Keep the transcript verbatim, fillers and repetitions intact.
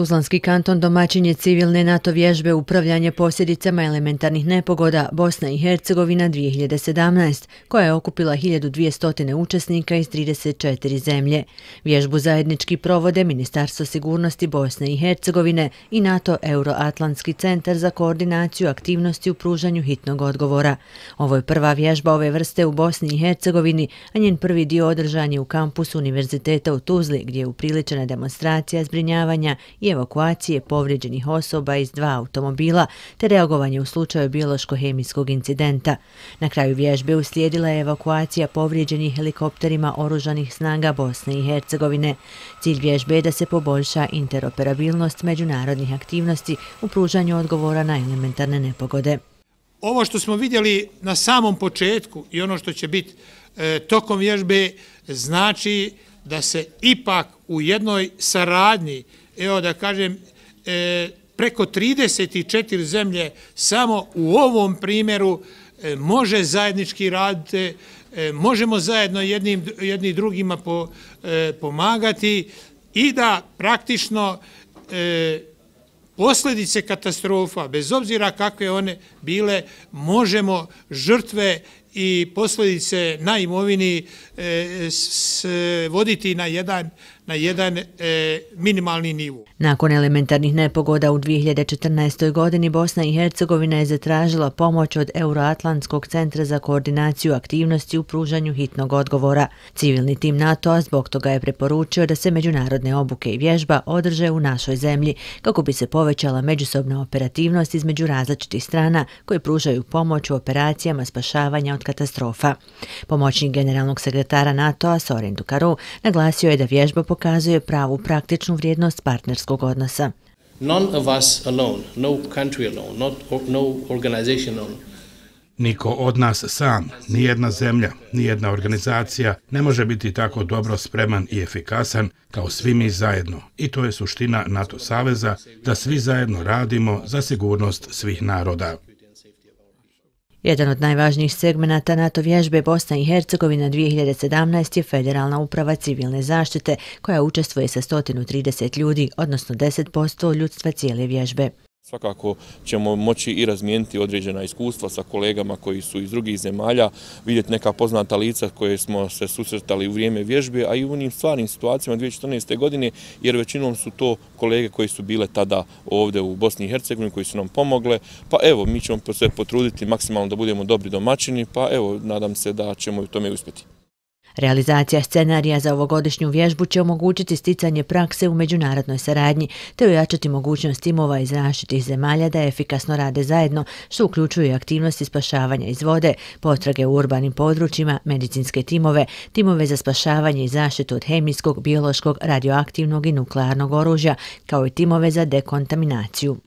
Tuzlanski kanton domaćin je civilne NATO vježbe upravljanje posljedicama elementarnih nepogoda Bosna i Hercegovina dvije hiljade sedamnaest, koja je okupila hiljadu dvjesto učesnika iz trideset četiri zemlje. Vježbu zajednički provode Ministarstvo sigurnosti Bosne i Hercegovine i NATO Euroatlantski centar za koordinaciju aktivnosti u pružanju hitnog odgovora. Ovo je prva vježba ove vrste u Bosni i Hercegovini, a njen prvi dio održan je u kampusu Univerziteta u Tuzli, gdje je upriličena demonstracija zbrinjavanja i evakuacije povrijeđenih osoba iz dva automobila te reagovanje u slučaju biološko-hemijskog incidenta. Na kraju vježbe uslijedila je evakuacija povrijeđenih helikopterima oružanih snaga Bosne i Hercegovine. Cilj vježbe je da se poboljša interoperabilnost međunarodnih aktivnosti u pružanju odgovora na elementarne nepogode. Ovo što smo vidjeli na samom početku i ono što će biti e, tokom vježbe znači da se ipak u jednoj saradnji, evo da kažem, e, preko trideset četiri zemlje samo u ovom primjeru e, može zajednički raditi, e, možemo zajedno jednim, jedni drugima po, e, pomagati i da praktično e, posljedice katastrofa, bez obzira kakve one bile, možemo žrtve i posljedice na imovini e, s, voditi na jedan, na jedan e, minimalni nivo. Nakon elementarnih nepogoda u dvije hiljade četrnaestoj. godini Bosna i Hercegovina je zatražila pomoć od Euroatlantskog centra za koordinaciju aktivnosti u pružanju hitnog odgovora. Civilni tim NATO-a zbog toga je preporučio da se međunarodne obuke i vježba održe u našoj zemlji, kako bi se povećala međusobna operativnost između različitih strana koje pružaju pomoć u operacijama spašavanja od katastrofa. Pomoćnik generalnog sekretara NATO-a Sorin Dukaru naglasio je da vježba pokazuje pravu praktičnu vrijednost partnerskog odnosa. None of us alone, no country alone, not, no organization alone. Niko od nas sam, nijedna zemlja, nijedna organizacija ne može biti tako dobro spreman i efikasan kao svi mi zajedno. I to je suština NATO saveza, da svi zajedno radimo za sigurnost svih naroda. Jedan od najvažnijih segmenata NATO vježbe Bosna i Hercegovina dvije hiljade sedamnaest. je Federalna uprava civilne zaštite, koja učestvuje sa sto trideset ljudi, odnosno deset posto ljudstva cijele vježbe. Svakako ćemo moći i razmijeniti određena iskustva sa kolegama koji su iz drugih zemalja, vidjeti neka poznata lica koje smo se susretali u vrijeme vježbe, a i u onim stvarnim situacijama dvije hiljade četrnaeste. godine, jer većinom su to kolege koji su bile tada ovdje u Bosni i Hercegovini, koji su nam pomogle. Pa evo, mi ćemo se potruditi maksimalno da budemo dobri domaćini, pa evo, nadam se da ćemo u tome uspjeti. Realizacija scenarija za ovogodišnju vježbu će omogućiti sticanje prakse u međunarodnoj saradnji te ojačati mogućnost timova iz različitih zemalja da efikasno rade zajedno, što uključuju aktivnosti spašavanja iz vode, potrage u urbanim područjima, medicinske timove, timove za spašavanje i zaštitu od hemijskog, biološkog, radioaktivnog i nuklearnog oružja, kao i timove za dekontaminaciju.